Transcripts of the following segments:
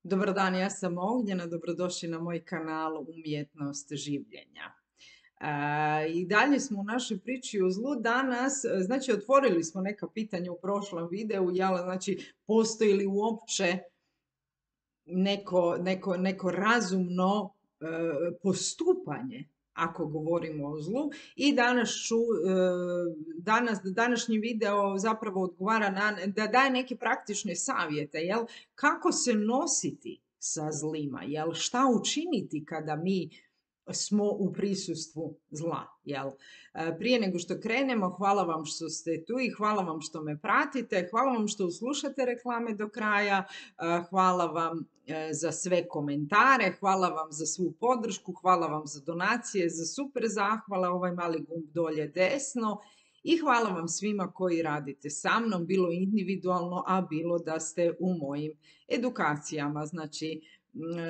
Dobar dan, ja sam Ognjena, dobrodošli na moj kanal Umjetnost življenja. I dalje smo u našoj priči o zlu danas, znači otvorili smo neka pitanja u prošlom videu, znači postoji li uopće neko razumno postupanje ako govorimo o zlu i današnji video zapravo odgovara da daje neke praktične savjete, kako se nositi sa zlima, šta učiniti kada mi smo u prisustvu zla. Prije nego što krenemo, hvala vam što ste tu i hvala vam što me pratite, hvala vam što slušate reklame do kraja, hvala vam za sve komentare, hvala vam za svu podršku, hvala vam za donacije, za super zahvala, ovaj mali gumb dolje desno i hvala vam svima koji radite sa mnom, bilo individualno, a bilo da ste u mojim edukacijama. Znači,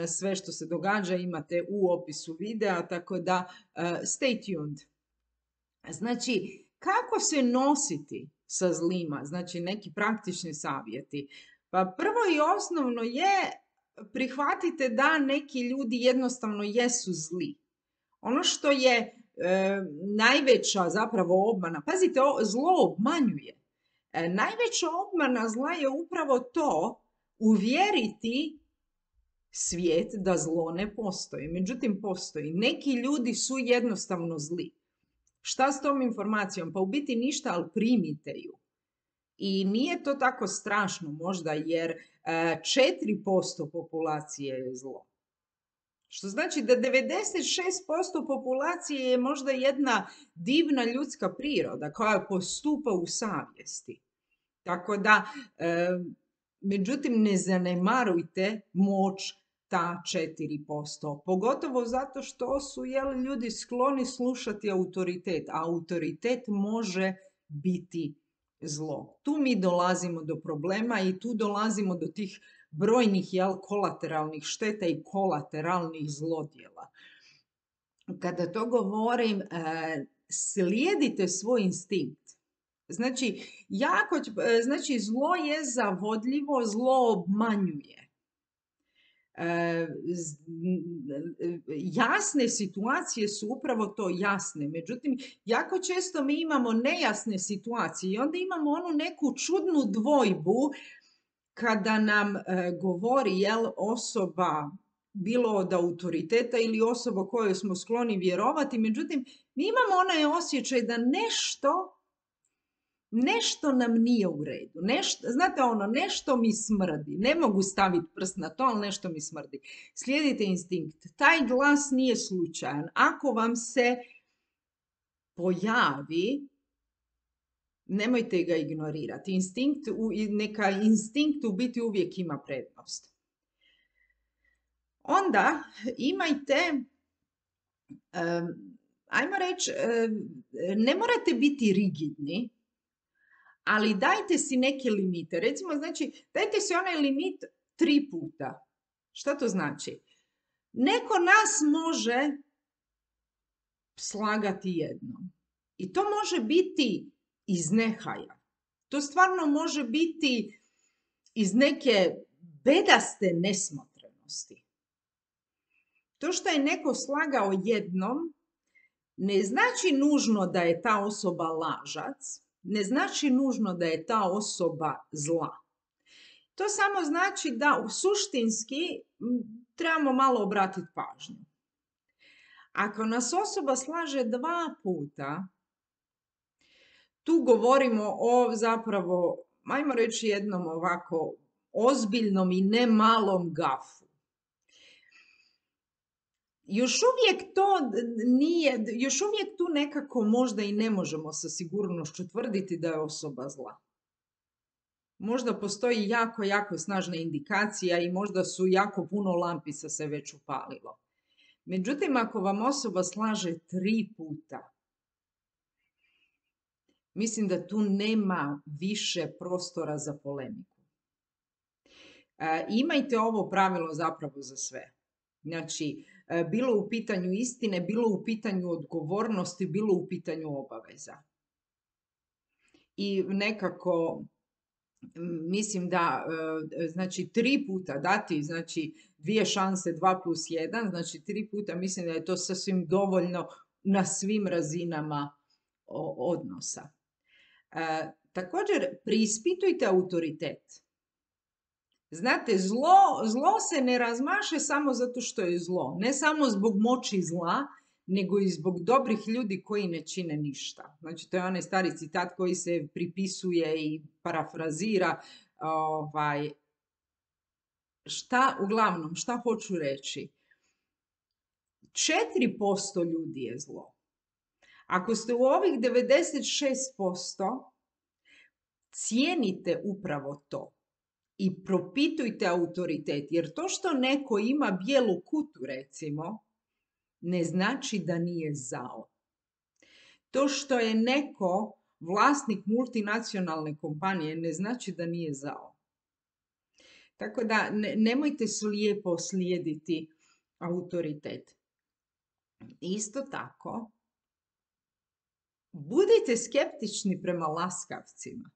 sve što se događa imate u opisu videa, tako da stay tuned. Znači, kako se nositi sa zlima? Znači, neki praktični savjeti. Pa prvo i osnovno je prihvatite da neki ljudi jednostavno jesu zli. Ono što je najveća zapravo obmana, pazite, zlo obmanjuje. Najveća obmana zla je upravo to, uvjeriti svijet da zlo ne postoji. Međutim, postoji. Neki ljudi su jednostavno zli. Šta s tom informacijom? Pa u biti ništa, ali primite ju. I nije to tako strašno možda, jer 4% populacije je zlo. Što znači da 96% populacije je možda jedna divna ljudska priroda koja postupa u savjesti. Tako da, međutim, ne zanemarujte moć ta 4%. Pogotovo zato što su ljudi skloni slušati autoritet. A autoritet može biti zlo. Tu mi dolazimo do problema i tu dolazimo do tih brojnih kolateralnih šteta i kolateralnih zlodjela. Kada to govorim, slijedite svoj instinkt. Znači, zlo je zavodljivo, zlo obmanjuje. Jasne situacije su upravo to, jasne. Međutim, jako često mi imamo nejasne situacije i onda imamo onu neku čudnu dvojbu kada nam govori osoba, bilo od autoriteta ili osoba kojoj smo skloni vjerovati. Međutim, mi imamo onaj osjećaj da nešto nam nije u redu. Znate nešto mi smrdi. Ne mogu staviti prst na to, ali nešto mi smrdi. Slijedite instinkt. Taj glas nije slučajan. Ako vam se pojavi, nemojte ga ignorirati. Neka instinkt u biti uvijek ima prednost. Onda imajte, ajmo reći, ne morate biti rigidni, ali dajte si neke limite. Recimo, znači, dajte si onaj limit 3 puta. Šta to znači? Neko nas može slagati jednom. I to može biti iz nehaja. To stvarno može biti iz neke bedaste nesmotrenosti. To što je neko slagao jednom, ne znači nužno da je ta osoba lažac, ne znači nužno da je ta osoba zla. To samo znači da suštinski trebamo malo obratiti pažnju. Ako nas osoba slaže 2 puta, tu govorimo o zapravo, ajmo reći, jednom ovako ozbiljnom i ne malom gafu. Još uvijek tu nekako možda i ne možemo sa sigurnošću tvrditi da je osoba zla. Možda postoji jako, jako snažna indikacija i možda su jako puno lampica se već upalilo. Međutim, ako vam osoba slaže 3 puta, mislim da tu nema više prostora za polemiku. Imajte ovo pravilo zapravo za sve. Znači, bilo u pitanju istine, bilo u pitanju odgovornosti, bilo u pitanju obaveza. I nekako mislim da, znači 3 puta dati, znači 2 šanse, 2+1, znači 3 puta, mislim da je to sasvim dovoljno na svim razinama odnosa. Također, preispitujte autoritet. Znate, zlo se ne razmaše samo zato što je zlo. Ne samo zbog moći zla, nego i zbog dobrih ljudi koji ne čine ništa. Znači, to je onaj stari citat koji se pripisuje i parafrazira. Uglavnom, šta hoću reći? 4% ljudi je zlo. Ako ste u ovih 96%, cijenite upravo to. I propitujte autoritet, jer to što neko ima bijelu kutu, recimo, ne znači da nije zao. To što je neko vlasnik multinacionalne kompanije ne znači da nije zao. Tako da nemojte slijepo slijediti autoritet. Isto tako, budite skeptični prema laskavcima.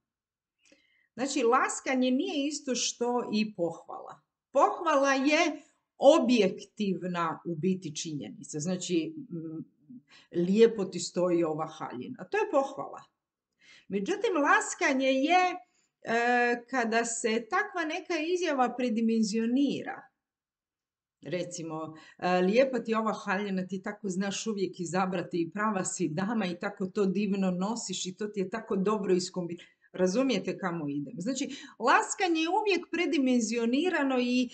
Znači, laskanje nije isto što i pohvala. Pohvala je objektivna u biti činjenica. Znači, lijepo ti stoji ova haljina. To je pohvala. Međutim, laskanje je kada se takva neka izjava predimenzionira. Recimo, lijepa ti ova haljina, ti tako znaš uvijek izabrati i prava si dama i tako to divno nosiš i to ti je tako dobro iskombinirano. Razumijete kamo idem? Znači, laskanje je uvijek predimenzionirano i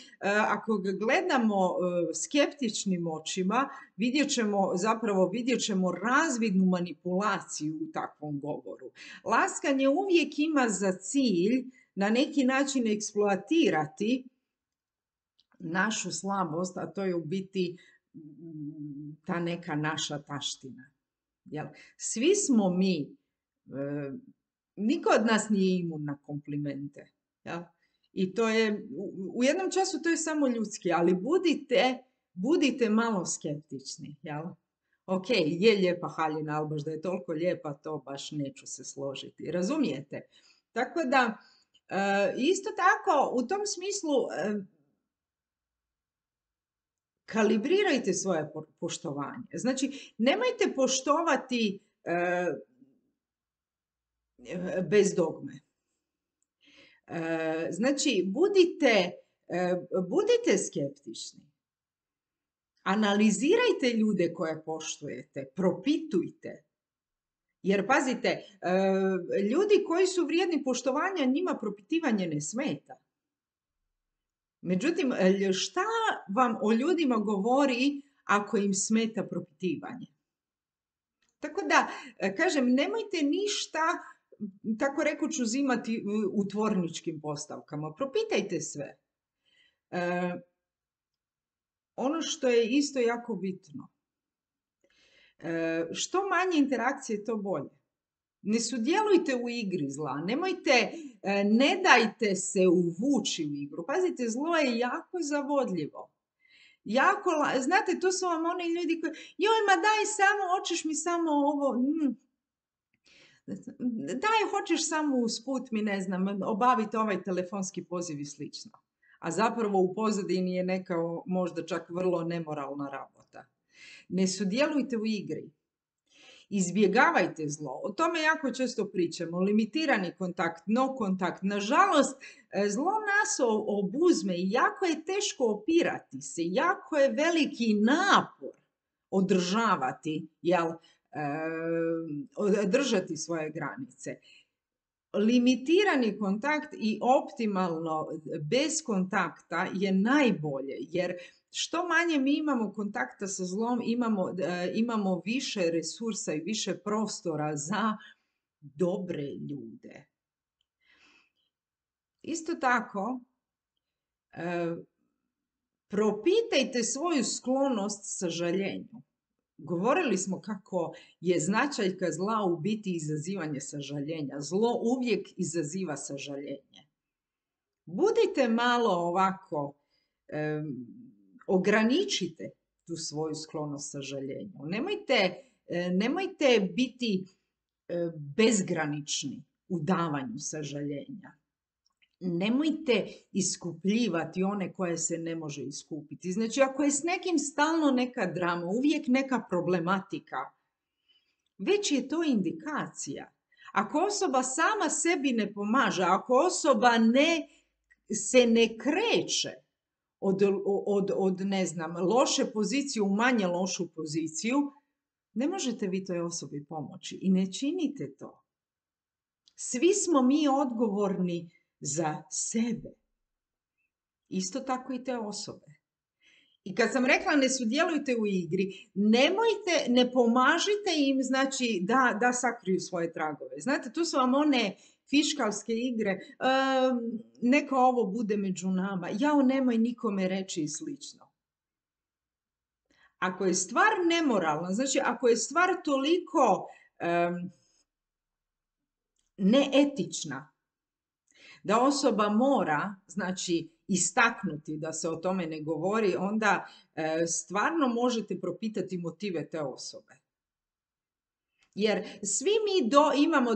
ako ga gledamo skeptičnim očima, vidjet ćemo razvidnu manipulaciju u takvom govoru. Laskanje uvijek ima za cilj na neki način eksploatirati našu slabost, a to je u biti ta neka naša taština. Jel? Svi smo mi, niko od nas nije imun na komplimente. Jel? I to je, u jednom času to je samo ljudski, ali budite malo skeptični. Jel? Ok, je lijepa haljina, ali baš da je toliko lijepa, to baš neću se složiti. Razumijete? Tako da, isto tako, u tom smislu, kalibrirajte svoje poštovanje. Znači, nemojte poštovati bez dogme. Znači, budite skeptični. Analizirajte ljude koje poštujete, propitujte. Jer, pazite, ljudi koji su vrijedni poštovanja, njima propitivanje ne smeta. Međutim, šta vam o ljudima govori ako im smeta propitivanje? Tako da, kažem, nemojte ništa, tako rekuć, uzimati u tvorničkim postavkama. Propitajte sve. Ono što je isto jako bitno. Što manje interakcije, to bolje. Ne sudjelujte u igri zla, ne dajte se uvući u igru. Pazite, zlo je jako zavodljivo. Znate, to su vam oni ljudi koji, joj, ma daj samo, hoćeš mi samo ovo, daj, hoćeš samo usput mi, ne znam, obaviti ovaj telefonski poziv i slično. A zapravo u pozadini je neka možda čak vrlo nemoralna rabota. Ne sudjelujte u igri. Izbjegavajte zlo. O tome jako često pričamo. Limitirani kontakt, no kontakt. Nažalost, zlo nas obuzme i jako je teško opirati se. Jako je veliki napor održavati, držati svoje granice. Limitirani kontakt i optimalno bez kontakta je najbolje, jer što manje mi imamo kontakta sa zlom, imamo više resursa i više prostora za dobre ljude. Isto tako, propitajte svoju sklonost sažaljenju. Govorili smo kako je značajka zla u biti izazivanje sažaljenja. Zlo uvijek izaziva sažaljenje. Budite malo ovako, ograničite tu svoju sklonost sažaljenju. Nemojte biti bezgranični u davanju sažaljenja. Nemojte iskupljivati one koje se ne može iskupiti. Znači, ako je s nekim stalno neka drama, uvijek neka problematika, već je to indikacija. Ako osoba sama sebi ne pomaže, ako osoba se ne kreće od ne znam, loše pozicije u manje lošu poziciju, ne možete vi toj osobi pomoći i ne činite to. Svi smo mi odgovorni za sebe. Isto tako i te osobe. I kad sam rekla ne sudjelujte u igri, ne pomažite im, znači, da sakriju svoje tragove. Znate, tu su vam one fiškalske igre, neka ovo bude među nama, jao nemoj nikome reći i slično. Ako je stvar nemoralna, znači ako je stvar toliko neetična, da osoba mora, znači, istaknuti da se o tome ne govori, onda stvarno možete propitati motive te osobe. Jer svi mi imamo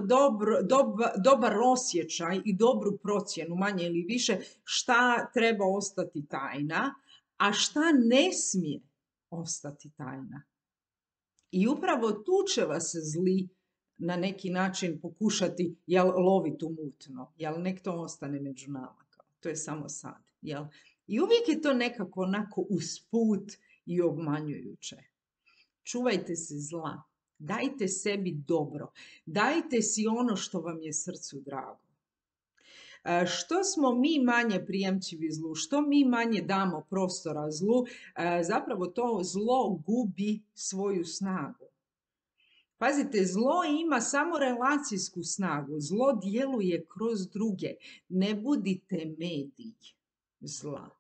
dobar osjećaj i dobru procjenu, manje ili više, šta treba ostati tajna, a šta ne smije ostati tajna. I upravo tu će vas zli na neki način pokušati loviti u mutno, nek to ostane među nama, to je samo sad. I uvijek je to nekako onako usput i obmanjujuće. Čuvajte se zla, dajte sebi dobro, dajte si ono što vam je srcu drago. Što smo mi manje prijemčivi zlu, što mi manje damo prostora zlu, zapravo to zlo gubi svoju snagu. Pazite, zlo ima samo relacijsku snagu, zlo djeluje kroz druge. Ne budite medij zla.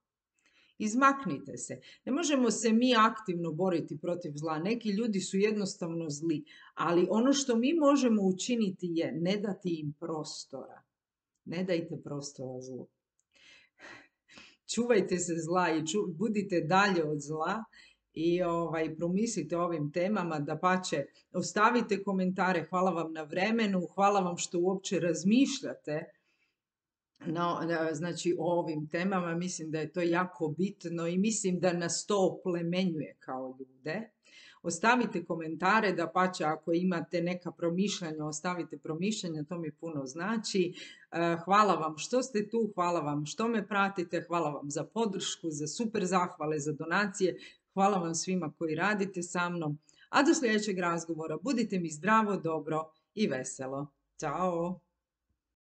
Izmaknite se. Ne možemo se mi aktivno boriti protiv zla. Neki ljudi su jednostavno zli, ali ono što mi možemo učiniti je ne dati im prostora. Ne dajte prostora zlu. Čuvajte se zla i budite dalje od zla. I promislite o ovim temama, dapače, ostavite komentare, hvala vam na vremenu, hvala vam što uopće razmišljate znači, o ovim temama, mislim da je to jako bitno i mislim da nas to oplemenjuje kao ljude. Ostavite komentare, dapače, ako imate neka promišljanja, ostavite promišljanja, to mi puno znači. Hvala vam što ste tu, hvala vam što me pratite, hvala vam za podršku, za super zahvale, za donacije. Hvala vam svima koji radite sa mnom, a do sljedećeg razgovora budite mi zdravo, dobro i veselo. Ćao!